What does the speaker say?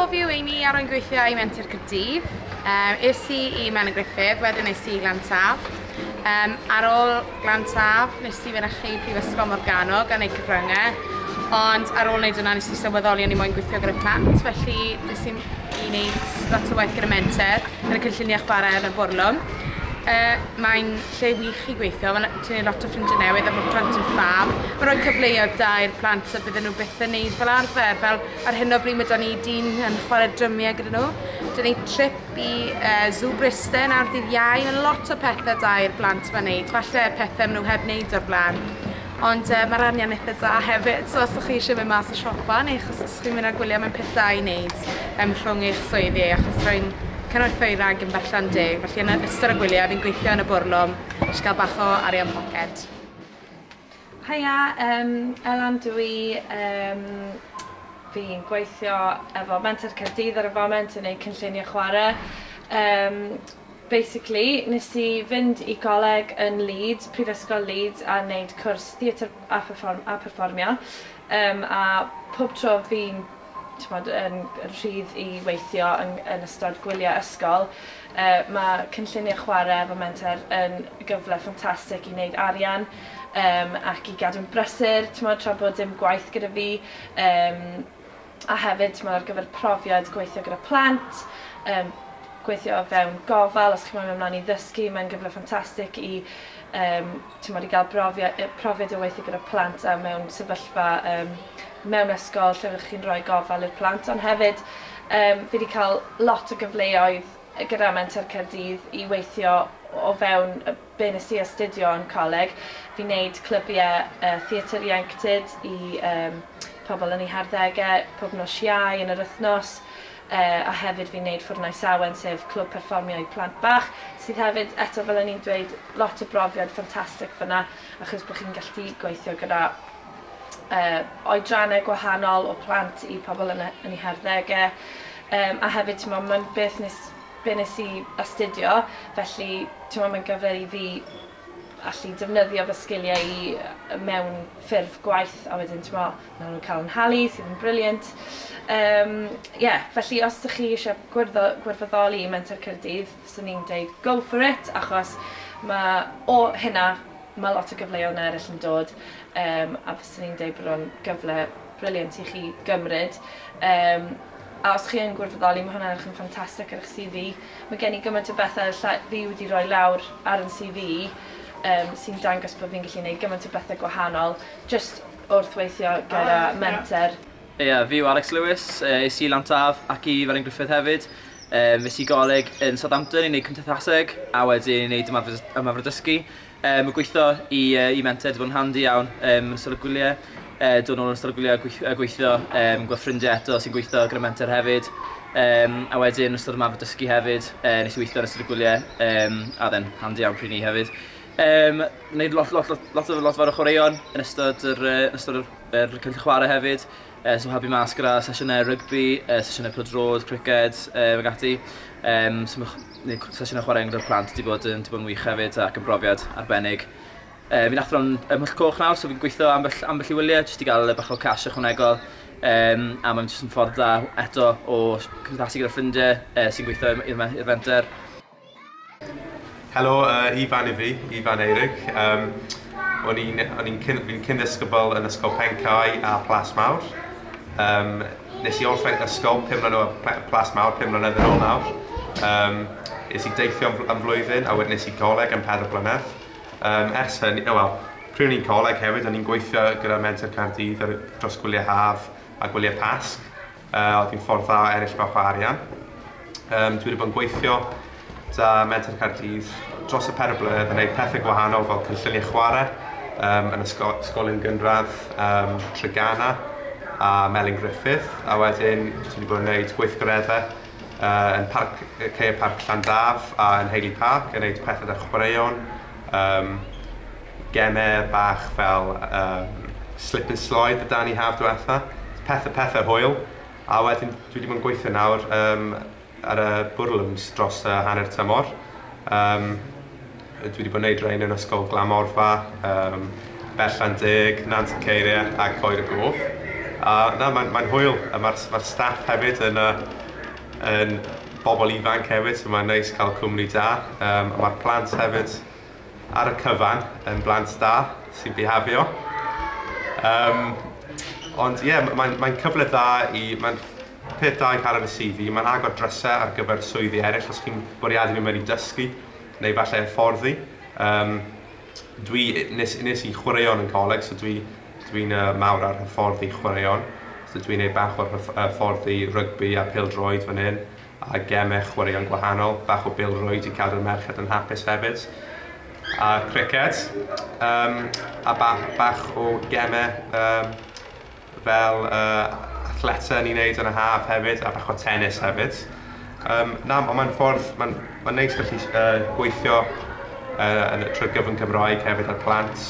Helo, fi yw Amy a rwy'n gweithio i Menter Caerdydd. Es i i Melin Gruffydd, wedyn es i i Glantaf. Ar ôl Glantaf, nes i fynychu Prifysgol Morgannwg a wneud cyfryngau. Ond ar ôl wneud hwnna, nes i sylweddoli o'n i moyn gweithio gyda plant, felly nes i wneud lot o waith gyda Menter, yn y cynlluniau chwarae yn y bwrlwm. Mae'n lle wych i gweithio, mae'n ti'n gwneud lot o ffrindiau newydd a mae'r plant yn ffab. Mae'n rhoi cyfleoedd da i'r plant a bydden nhw byth yn neud fel arfer. Fel ar hyn o bryd mae 'da ni dyn yn chwarae drymiau gyda nhw. 'Da ni trip i Zoo Bryste nawr dydd Iau. Mae lot o pethau da i'r blant ma'n neud. Falle pethau maen nhw heb wneud o'r blaen. Ond mae'r arian eitha da hefyd, so os ydych chi eisiau mynd mas o siopa neu achos os chi'n mynd ar gwyliau, mae'n peth da i wneud rhwng eich swyddi, achos rwy'n cynorthwywraig yn Berllan Deg, felly yn ystod y gwyliau fi'n gweithio yn y bwrlwm, jyst gael bach o arian poced. Haia, Elan dw i, fi'n gweithio efo Menter Caerdydd ar y foment yn neud cynlluniau chwarae. Basically, nes i fynd i goleg yn Leeds, Prifysgol Leeds, a wneud cwrs theatr a, perform a perfformio. A pob tro fi'n t'mod, yn rhydd i weithio yn ystod gwyliau ysgol, mae cynlluniau chwarae efo Menter yn gyfle ffantastig i wneud arian ac i gadw'n brysur, t'mod, tra bod dim gwaith gyda fi. A hefyd, t'mod, ar gyfer profiad gweithio gyda plant, gweithio o fewn gofal, os chi'n moyn mynd ymlaen i ddysgu, mae'n gyfle ffantastig i t'mod, i gael profiad o weithio gyda plant a mewn sefyllfa mewn ysgol lle ydych chi'n rhoi gofal i'r plant. Ond hefyd, fi wedi cael lot o gyfleoedd gyda Menter Caerdydd i weithio o fewn be nes i astudio yn coleg. Fi'n neud clybiau theatr ieuenctid i pobl yn eu harddegau pob nos Iau yn yr wythnos. A hefyd fi'n neud Ffwrnais Awen, sef clwb perfformio i plant bach, sydd hefyd, eto fel o'n i'n dweud, lot o brofiad ffantastig fyna, achos bod chi'n gallu gweithio gyda oedrannau gwahanol o plant i pobl yn eu harddegau. A hefyd, t'mo, mae'n beth be nes i astudio, felly t'mo, mae'n gyfle i fi allu defnyddio fy sgiliau i mewn ffurf gwaith, a wedyn t'mo, maen nhw'n cael yn nhalu, sydd yn brilliant. Yeah, felly os ydych chi eisiau gwirfoddoli i Menter Caerdydd, fyswn i'n dweud go for it, achos mae o hynna, mae lot o gyfleoedd eraill yn dod, a fyswn i'n dweud bod o'n gyfle brilliant i chi gymryd. A os chi yn gwirfoddoli, mae hwnna'n edrych yn ffantastig ar eich CV. Mae gen i gymaint o bethau fi wedi rhoi lawr ar yn CV sy'n dangos bod fi'n gallu gwneud gymaint o bethau gwahanol, just wrth weithio gyda Menter. Ie, yeah, fi yw Alex Lewis, es i Lantaf ac i Felin Gruffydd hefyd. Es i goleg yn Southampton i wneud cymdeithaseg a wedyn i wneud ymarfer dysgu. Mae gweithio i Menter wedi bod yn handi iawn yn ystod y gwyliau. Dod nôl yn ystod y gwyliau a gweithio, gweld ffrindiau eto sy'n gweithio gyda Menter hefyd. A wedyn yn ystod ymarfer dysgu hefyd, nes i weithio yn ystod y gwyliau, a then handi iawn pryd ni hefyd. Wneud lot, lot, lot, lot, lot fawr o chwaraeon yn ystod yr cynllun chwarae hefyd. So helpu mas gyda sesiynau rygbi, sesiynau pêl-droed, criced, ac ati. So mae sesiynau chwarae gyda'r plant wedi bod yn wych hefyd ac yn brofiad arbennig. Fi'n athro yn Ym Mhwll Coch nawr, so fi'n gweithio ambell i wyliau, jyst i gael bach o cash ychwanegol. A mae'n jyst yn ffordd dda eto o cymdeithasu gyda ffrindiau sy'n gweithio i'r fenter. Helo, Ifan i fi, Ifan Eirig. O'n i'n cyn-ddisgybl yn Ysgol Pencae a Plas Mawr. Nes i orffen ysgol 5 mlynedd, Plas Mawr 5 mlynedd yn ôl nawr. Nes i deithio am flwyddyn a wedyn nes i goleg am 4 blynedd. Ers hynny, oh, wel, pryd o'n i'n coleg hefyd, o'n i'n gweithio gyda Menter Caerdydd dros gwyliau haf a gwyliau Pasg. Oedd hi'n ffordd dda o ennill bach o arian. Dwi wedi bod yn gweithio 'da Menter Caerdydd dros y 4 blynedd yn gwneud pethau gwahanol fel cynlluniau chwarae yn ysgolion gynradd Treganna a Melin Gruffydd, a wedyn dwi wedi bod yn gwneud gweithgareddau yn Caeau Parc Llandaf a yn Hayley Park yn gwneud pethau ar chwaraeon, gemau bach fel slip and slide y dan i haf diwetha, pethau hwyl, a wedyn dwi wedi bod yn gweithio nawr ar y bwrlwms dros y hanner tymor. Dwi wedi bod yn gwneud rhain yn Ysgol Glan Morfa, Berllan Deg, Nant y Ceiriau a Coed y Gof. A na, mae'n mae hwyl. A mae'r mae staff hefyd yn, yn bobl ifanc hefyd, so mae'n neis cael cwmni da. A mae'r plant hefyd ar y cyfan yn blant da sy'n bihafio. Ond ie, yeah, mae'n mae cyfle dda i... Mae'n peth da i cael ar y CV. Mae'n agor drysau ar gyfer swyddi eraill os chi'n bwriadu mynd mewn i dysgu neu falle hyfforddi. Dwi, nes i chwaraeon yn coleg, so dwi'n mawr ar hyfforddi chwaraeon. So dwi'n neud bach o'r hyfforddi rygbi a pêl-droed fan hyn, a gemau chwaraeon gwahanol, bach o bêl-rwyd i cadw'r merched yn hapus hefyd. A criced, a bach o gemau fel athleta ni'n neud yn y haf hefyd, a bach o tennis hefyd. Na, ond mae'n ffordd, mae'n neis gallu gweithio trwy'r gyfrwng Cymraeg hefyd ar plant.